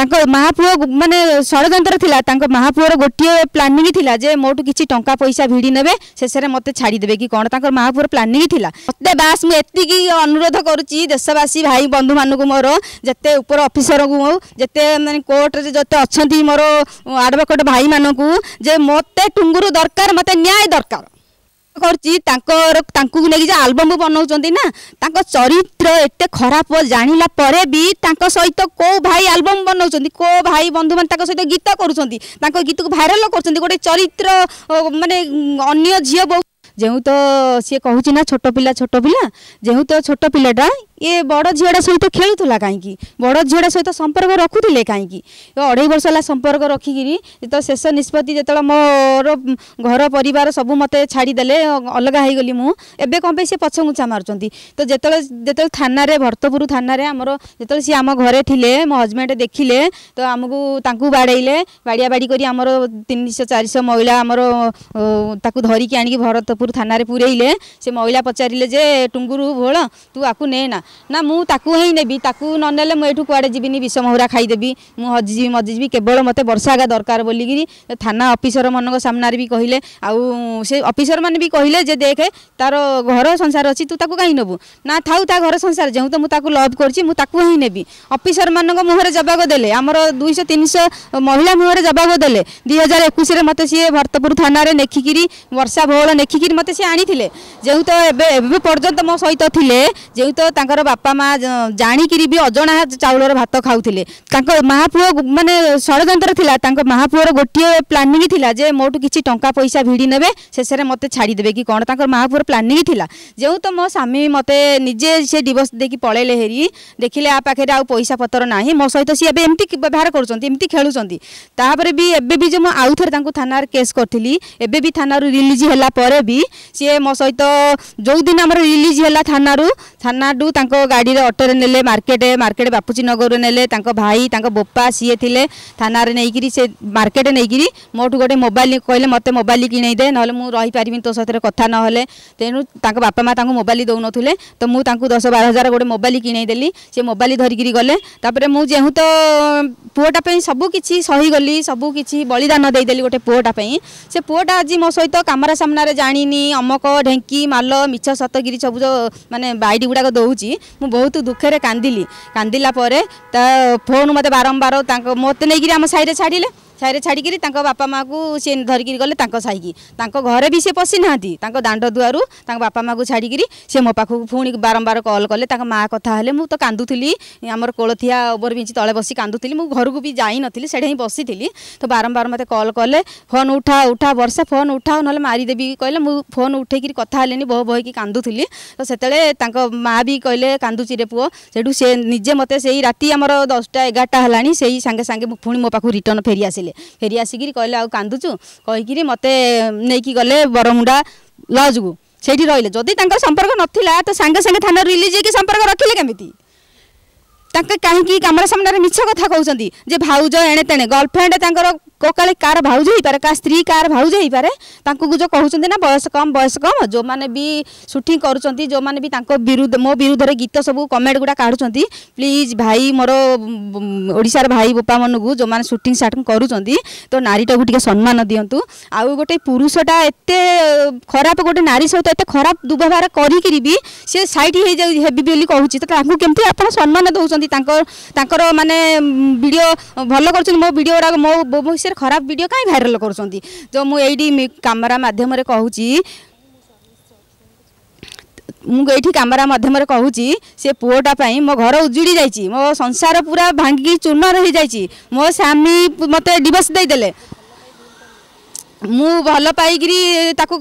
ତାଙ୍କ ମା ପୁଅ ମାନେ ଷଡ଼ଯନ୍ତ୍ର ଥିଲା। ତାଙ୍କ ମା ପୁଅର ଗୋଟିଏ ପ୍ଲାନିଂ ଥିଲା ଯେ ମୋଠୁ କିଛି ଟଙ୍କା ପଇସା ଭିଡ଼ି ନେବେ, ଶେଷରେ ମୋତେ ଛାଡ଼ିଦେବେ କି କ'ଣ, ତାଙ୍କର ମା ପୁଅର ପ୍ଲାନିଂ ଥିଲା। ମୋତେ ବାସ୍ ମୁଁ ଏତିକି ଅନୁରୋଧ କରୁଛି ଦେଶବାସୀ ଭାଇ ବନ୍ଧୁମାନଙ୍କୁ, ମୋର ଯେତେ ଉପର ଅଫିସରଙ୍କୁ, ଯେତେ ମାନେ କୋର୍ଟରେ ଯେତେ ଅଛନ୍ତି ମୋର ଆଡ଼ଭୋକେଟ୍ ଭାଇମାନଙ୍କୁ, ଯେ ମୋତେ ଟୁଙ୍ଗୁରୁ ଦରକାର, ମୋତେ ନ୍ୟାୟ ଦରକାର କରୁଛି। ତାଙ୍କର ତାଙ୍କୁ ନେଇକି ଯେ ଆଲବମ୍ ବନାଉଛନ୍ତି ନା, ତାଙ୍କ ଚରିତ୍ର ଏତେ ଖରାପ ଜାଣିଲା ପରେ ବି ତାଙ୍କ ସହିତ କେଉଁ ଭାଇ ଆଲବମ୍ ବନାଉଛନ୍ତି, କେଉଁ ଭାଇ ବନ୍ଧୁମାନେ ତାଙ୍କ ସହିତ ଗୀତ କରୁଛନ୍ତି, ତାଙ୍କ ଗୀତକୁ ଭାଇରାଲ କରୁଛନ୍ତି, ଗୋଟେ ଚରିତ୍ର ମାନେ ଅନ୍ୟ ଝିଅ ବୋହୂ। ଯେଉଁ ତ ସିଏ କହୁଛି ନା ଛୋଟ ପିଲା, ଛୋଟ ପିଲା, ଯେଉଁ ତ ଛୋଟ ପିଲାଟା ଇଏ ବଡ଼ ଝିଅଟା ସହିତ ଖେଳୁଥିଲା କାହିଁକି? ବଡ଼ ଝିଅଟା ସହିତ ସମ୍ପର୍କ ରଖୁଥିଲେ କାହିଁକି? 2.5 ବର୍ଷ ହେଲା ସମ୍ପର୍କ ରଖିକିରି ତ ଶେଷ ନିଷ୍ପତ୍ତି ଯେତେବେଳେ ମୋର ଘର ପରିବାର ସବୁ ମୋତେ ଛାଡ଼ିଦେଲେ, ଅଲଗା ହେଇଗଲି ମୁଁ, ଏବେ କ'ଣ ପାଇଁ ସେ ପଛଘୁଞ୍ଚା ମାରୁଛନ୍ତି? ତ ଯେତେବେଳେ ଥାନାରେ, ଭରତପୁର ଥାନାରେ ଆମର ଯେତେବେଳେ ସିଏ ଆମ ଘରେ ଥିଲେ, ମୋ ହଜବେଣ୍ଡ ଦେଖିଲେ ତ ଆମକୁ ତାଙ୍କୁ ବାଡ଼େଇଲେ। ବାଡ଼ିଆ ବାଡ଼ି କରି ଆମର 300 400 ମହିଳା ଆମର ତାକୁ ଧରିକି ଆଣିକି ଭରତପୁର ଥାନାରେ ପୁରେଇଲେ। ସେ ମହିଳା ପଚାରିଲେ ଯେ ଟୁଙ୍ଗୁରୁ ଭୋଳ, ତୁ ଆକୁ ନେ ନା? ନା, ମୁଁ ତାକୁ ହିଁ ନେବି, ତାକୁ ନ ନେଲେ ମୁଁ ଏଠୁ କୁଆଡ଼େ ଯିବିନି, ବିଷ ମହୁରା ଖାଇଦେବି, ମୁଁ ହଜିଯିବି ମଜିଯିବି, କେବଳ ମୋତେ ବର୍ଷା ଏକା ଦରକାର ବୋଲିକିରି ଥାନା ଅଫିସର ମାନଙ୍କ ସାମ୍ନାରେ ବି କହିଲେ। ଆଉ ସେ ଅଫିସର ମାନେ ବି କହିଲେ ଯେ ଦେଖେ, ତାର ଘର ସଂସାର ଅଛି, ତୁ ତାକୁ କାହିଁ ନେବୁ? ନା, ଥାଉ ତା ଘର ସଂସାର, ଯେଉଁ ତ ମୁଁ ତାକୁ ଲଭ୍ କରୁଛି, ମୁଁ ତାକୁ ହିଁ ନେବି। ଅଫିସର ମାନଙ୍କ ମୁହଁରେ ଜବାବ ଦେଲେ, ଆମର 200 300 ମହିଳା ମୁହଁରେ ଜବାବ ଦେଲେ। 2021ରେ ମୋତେ ସିଏ ଭରତପୁର ଥାନାରେ ନେଖିକିରି, ବର୍ଷା ଭୋଳ ନେଖିକିରି ମୋତେ ସିଏ ଆଣିଥିଲେ। ଯେଉଁ ତ ଏବେ ପର୍ଯ୍ୟନ୍ତ ମୋ ସହିତ ଥିଲେ, ଯେଉଁ ତ ତାଙ୍କର ବାପା ମା ଜାଣିକିରି ବି ଅଜଣା ଚାଉଳର ଭାତ ଖାଉଥିଲେ। ତାଙ୍କ ମା ପୁଅ ମାନେ ଷଡ଼ଯନ୍ତ୍ର ଥିଲା। ତାଙ୍କ ମା ପୁଅର ଗୋଟିଏ ପ୍ଲାନିଂ ଥିଲା ଯେ ମୋଠୁ କିଛି ଟଙ୍କା ପଇସା ଭିଡ଼ି ନେବେ, ଶେଷରେ ମୋତେ ଛାଡ଼ିଦେବେ କି କ'ଣ, ତାଙ୍କର ମା ପୁଅର ପ୍ଲାନିଂ ଥିଲା। ଯେଉଁ ତ ମୋ ସ୍ୱାମୀ ମୋତେ ନିଜେ ସେ ଡିଭୋର୍ସ ଦେଇକି ପଳେଇଲେ ହେରି, ଦେଖିଲେ ଆ ପାଖରେ ଆଉ ପଇସା ପତ୍ର ନାହିଁ, ମୋ ସହିତ ସିଏ ଏବେ ଏମିତି ବ୍ୟବହାର କରୁଛନ୍ତି, ଏମିତି ଖେଳୁଛନ୍ତି। ତାପରେ ବି ଏବେ ବି ଯେ ମୁଁ ଆଉ ଥରେ ତାଙ୍କୁ ଥାନାରେ କେସ୍ କରିଥିଲି, ଏବେ ବି ଥାନାରୁ ରିଲିଜ୍ ହେଲା ପରେ ବି ସିଏ ମୋ ସହିତ, ଯେଉଁଦିନ ଆମର ରିଲିଜ୍ ହେଲା ଥାନାରୁ, ଥାନାରୁ ତାଙ୍କ ଗାଡ଼ିରେ ଅଟୋରେ ନେଲେ ମାର୍କେଟ, ମାର୍କେଟ ବାପୁଜୀ ନଗରରେ ନେଲେ। ତାଙ୍କ ଭାଇ, ତାଙ୍କ ବୋପା ସିଏ ଥିଲେ। ଥାନାରେ ନେଇକିରି ସେ ମାର୍କେଟ ନେଇକିରି ମୋଠୁ ଗୋଟେ ମୋବାଇଲ କହିଲେ, ମୋତେ ମୋବାଇଲ କିଣେଇ ଦେ, ନହେଲେ ମୁଁ ରହିପାରିବିନି ତୋ ସହିତ କଥା ନହେଲେ। ତେଣୁ ତାଙ୍କ ବାପା ମା ତାଙ୍କୁ ମୋବାଇଲ ଦେଉନଥିଲେ, ତ ମୁଁ ତାଙ୍କୁ 10 12 ହଜାର ଗୋଟେ ମୋବାଇଲ କିଣେଇ ଦେଲି। ସେ ମୋବାଇଲ ଧରିକିରି ଗଲେ। ତାପରେ ମୁଁ ଯେଉଁ ତ ପୁଅଟା ପାଇଁ ସବୁ କିଛି ସହିଗଲି, ସବୁ କିଛି ବଳିଦାନ ଦେଇଦେଲି ଗୋଟେ ପୁଅଟା ପାଇଁ। ସେ ପୁଅଟା ଆଜି ମୋ ସହିତ କ୍ୟାମେରା ସାମ୍ନାରେ ଜାଣିନି ଅମକ ଢେଙ୍କି ମାଲ ମିଛ ସତଗିରି ସବୁ ଯେଉଁ ମାନେ ବାଇଡ଼ି ଗୁଡ଼ାକ ଦେଉଛି। ମୁଁ ବହୁତ ଦୁଃଖରେ କାନ୍ଦିଲି। କାନ୍ଦିଲା ପରେ ତା ଫୋନ୍ ମୋତେ ବାରମ୍ବାର, ତାଙ୍କ ମୋତେ ନେଇକିରି ଆମ ସାହିରେ ଛାଡ଼ିଲେ। ସାହିରେ ଛାଡ଼ିକିରି ତାଙ୍କ ବାପା ମାଆକୁ ସିଏ ଧରିକିରି ଗଲେ ତାଙ୍କ ସାହିକି। ତାଙ୍କ ଘରେ ବି ସେ ପଶିନାହାନ୍ତି। ତାଙ୍କ ଦାଣ୍ଡ ଦୁଆରୁ ତାଙ୍କ ବାପା ମାଆକୁ ଛାଡ଼ିକିରି ସେ ମୋ ପାଖକୁ ପୁଣି ବାରମ୍ବାର କଲ୍ କଲେ। ତାଙ୍କ ମାଆ କଥା ହେଲେ, ମୁଁ ତ କାନ୍ଦୁଥିଲି। ଆମର କୋଳଥିଆ ଓଭର ବ୍ରିଜ୍ ତଳେ ବସି କାନ୍ଦୁଥିଲି। ମୁଁ ଘରକୁ ବି ଯାଇନଥିଲି, ସେଇଠି ହିଁ ବସିଥିଲି। ତ ବାରମ୍ବାର ମୋତେ କଲ୍ କଲେ, ଫୋନ୍ ଉଠା, ଉଠା ବର୍ଷା, ଫୋନ୍ ଉଠାଅ, ନହେଲେ ମାରିଦେବି କହିଲେ। ମୁଁ ଫୋନ୍ ଉଠେଇକିରି କଥା ହେଲିନି, ବୋହ ବୋହିକି କାନ୍ଦୁଥିଲି। ତ ସେତେବେଳେ ତାଙ୍କ ମାଆ ବି କହିଲେ, କାନ୍ଦୁଛି ରେ ପୁଅ? ସେଇଠୁ ସେ ନିଜେ ମୋତେ ସେଇ ରାତି ଆମର 10ଟା 11ଟା ହେଲାଣି, ସେଇ ସାଙ୍ଗେ ସାଙ୍ଗେ ପୁଣି ମୋ ପାଖକୁ ରିଟର୍ନ ଫେରି ଆସିଲେ। ଫେରି ଆସିକିରି କହିଲେ, ଆଉ କାନ୍ଦୁଛୁ କହିକିରି ମୋତେ ନେଇକି ଗଲେ ବରମୁଣ୍ଡା ଲଜ୍କୁ, ସେଇଠି ରହିଲେ। ଯଦି ତାଙ୍କର ସମ୍ପର୍କ ନଥିଲା ତ ସାଙ୍ଗେ ସାଙ୍ଗେ ଥାନାରୁ ରିଲିଜ୍ ହେଇକି ସମ୍ପର୍କ ରଖିଲେ କେମିତି? ତାଙ୍କେ କାହିଁକି କ୍ୟାମେରା ସାମ୍ନାରେ ମିଛ କଥା କହୁଛନ୍ତି ଯେ ଭାଉଜ ଏଣେ ତେଣେ ଗର୍ଲଫ୍ରେଣ୍ଡ ତାଙ୍କର? କାଳେ କାହାର ଭାଉଜ ହେଇପାରେ, କାହା ସ୍ତ୍ରୀ କାହାର ଭାଉଜ ହେଇପାରେ। ତାଙ୍କୁ ଯେଉଁ କହୁଛନ୍ତି ନା ବୟସ କମ୍, ବୟସ କମ୍, ଯେଉଁମାନେ ବି ସୁଟିଂ କରୁଛନ୍ତି, ଯେଉଁମାନେ ବି ତାଙ୍କ ବିରୁଦ୍ଧ ମୋ ବିରୁଦ୍ଧରେ ଗୀତ ସବୁ କମେଣ୍ଟ ଗୁଡ଼ା କାଢ଼ୁଛନ୍ତି, ପ୍ଲିଜ୍ ଭାଇ, ମୋର ଓଡ଼ିଶାର ଭାଇ ବୋପାମାନଙ୍କୁ, ଯେଉଁମାନେ ସୁଟିଂ ସାଟିଂ କରୁଛନ୍ତି, ତ ନାରୀଟାକୁ ଟିକେ ସମ୍ମାନ ଦିଅନ୍ତୁ। ଆଉ ଗୋଟେ ପୁରୁଷଟା ଏତେ ଖରାପ, ଗୋଟେ ନାରୀ ସହିତ ଏତେ ଖରାପ ଦୁର୍ବ୍ୟବହାର କରିକିରି ବି ସେ ସାଇଟ୍ ହେଇଯାଉ ହେବି ବୋଲି କହୁଛି, ତ ତାଙ୍କୁ କେମିତି ଆପଣ ସମ୍ମାନ ଦେଉଛନ୍ତି? ତାଙ୍କର ମାନେ ଭିଡ଼ିଓ ଭଲ କରୁଛନ୍ତି, ମୋ ଭିଡ଼ିଓ ଗୁଡ଼ାକ, ମୋ ବିଷୟରେ ଖରାପ ଭିଡ଼ିଓ କାହିଁ ଭାଇରାଲ କରୁଛନ୍ତି? ତ ମୁଁ ଏଇଠି କ୍ୟାମେରା ମାଧ୍ୟମରେ କହୁଛି, ମୁଁ ଏଇଠି କ୍ୟାମେରା ମାଧ୍ୟମରେ କହୁଛି, ସେ ପୁଅଟା ପାଇଁ ମୋ ଘର ଉଜୁଡ଼ି ଯାଇଛି, ମୋ ସଂସାର ପୁରା ଭାଙ୍ଗିକି ଚୂର୍ଣ୍ଣ ହେଇଯାଇଛି। ମୋ ସ୍ୱାମୀ ମୋତେ ଡିଭୋର୍ସ ଦେଇଦେଲେ। ମୁଁ ଭଲ ପାଇକିରି ତାକୁ